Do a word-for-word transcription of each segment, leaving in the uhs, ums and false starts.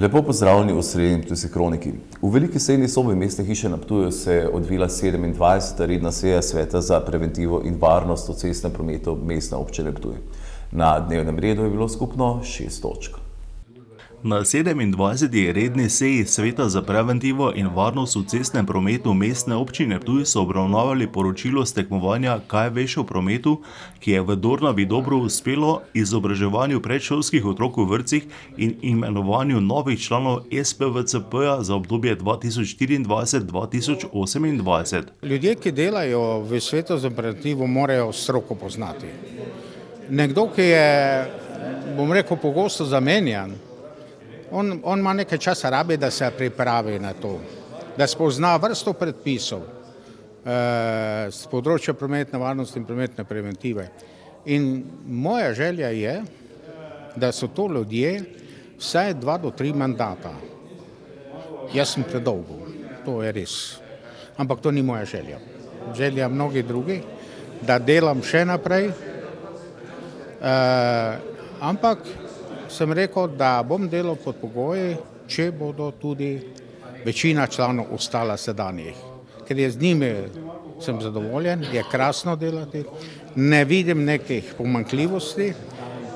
Lepo pozdravljeni v srednji Ptujski kroniki. V veliki sejni sobi mestne hiše na Ptuju se je odvila sedemindvajseta redna seja Sveta za preventivo in varnost v cestnem prometu Mestne občine Ptuj. Na dnevnem redu je bilo skupno šest točk. Na sedemindvajseti redni seji Sveta za preventivo in varnost v cestnem prometu Mestne občine Ptuj so obravnavali poročilo s tekmovanja Kaj veš o prometu, ki je v Dornavi dobro uspelo izobraževanju predšolskih otrok v vrtcih in imenovanju novih članov S P V C P-ja za obdobje dva tisoč štiriindvajset do dva tisoč osemindvajset. Ljudje, ki delajo v Svetu za preventivo, morajo stroko poznati. Nekdo, ki je, bom rekel, pogosto zamenjan, On, on ima nekaj časa rabi, da se pripravi na to, da spozna vrsto predpisov eh, z področja prometne varnosti in prometne preventive. In moja želja je, da so to ljudje vsaj dva do tri mandata. Jaz sem predolgo, to je res. Ampak to ni moja želja. Želja mnogi drugi, da delam še naprej, eh, ampak sem rekel, da bom delal pod pogoji, če bodo tudi večina članov ostala sedanjih. Ker je z njimi sem zadovoljen, je krasno delati, ne vidim nekih pomanjkljivosti.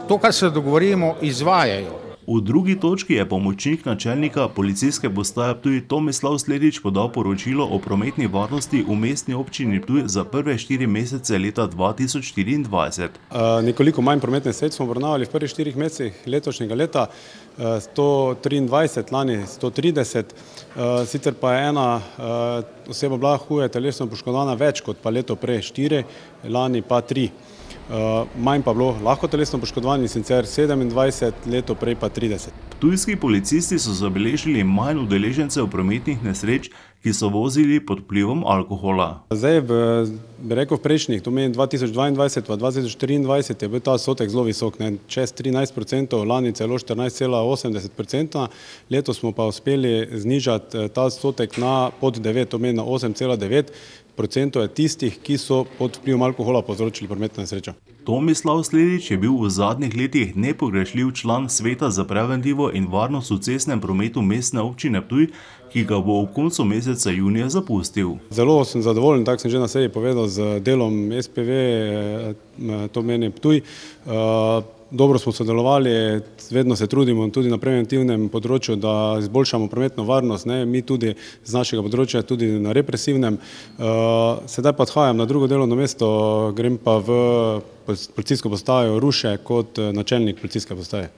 To, kar se dogovorimo, izvajajo. V drugi točki je pomočnik načelnika policijske postaje Ptuj Tomislav Sledič podal poročilo o prometni varnosti v Mestni občini Ptuj za prve štiri mesece leta dva tisoč štiriindvajset. Uh, nekoliko manj prometne sredstev smo obravnavali v prvih štirih mesecih letošnjega leta, uh, sto triindvajset, lani sto trideset, uh, sicer pa je ena uh, oseba bila huje telesno poškodovana več kot pa leto prej štiri, lani pa tri. Uh, manj pa bilo lahko telesno poškodovanih, sicer sedemindvajset, leto prej pa trideset. Ptujski policisti so zabeležili manj udeležencev prometnih nesreč, ki so vozili pod vplivom alkohola. Zdaj, v, bi rekel, v prejšnjih, to meni dva tisoč dvaindvajset pa dva tisoč triindvajset je bil ta odstotek zelo visok, ne, čez trinajst procentov, lani celo štirinajst cela osemdeset procenta, letos smo pa uspeli znižati ta odstotek na pod devet, to meni na osem cela devet procentov je tistih, ki so pod vplivom alkohola povzročili prometno nesrečo. Tomislav Sledič je bil v zadnjih letih nepogrešljiv član Sveta za preventivo in varnost v cestnem prometu Mestne občine Ptuj, ki ga bo v koncu meseca junija zapustil. Zelo sem zadovoljen, tako sem že na seji povedal, z delom S P V, to meni Ptuj. Dobro smo sodelovali, vedno se trudimo tudi na preventivnem področju, da izboljšamo prometno varnost, ne, mi tudi z našega področja, tudi na represivnem. Sedaj pa odhajam na drugo delovno mesto, grem pa v policijsko postajo Ruše kot načelnik policijske postaje.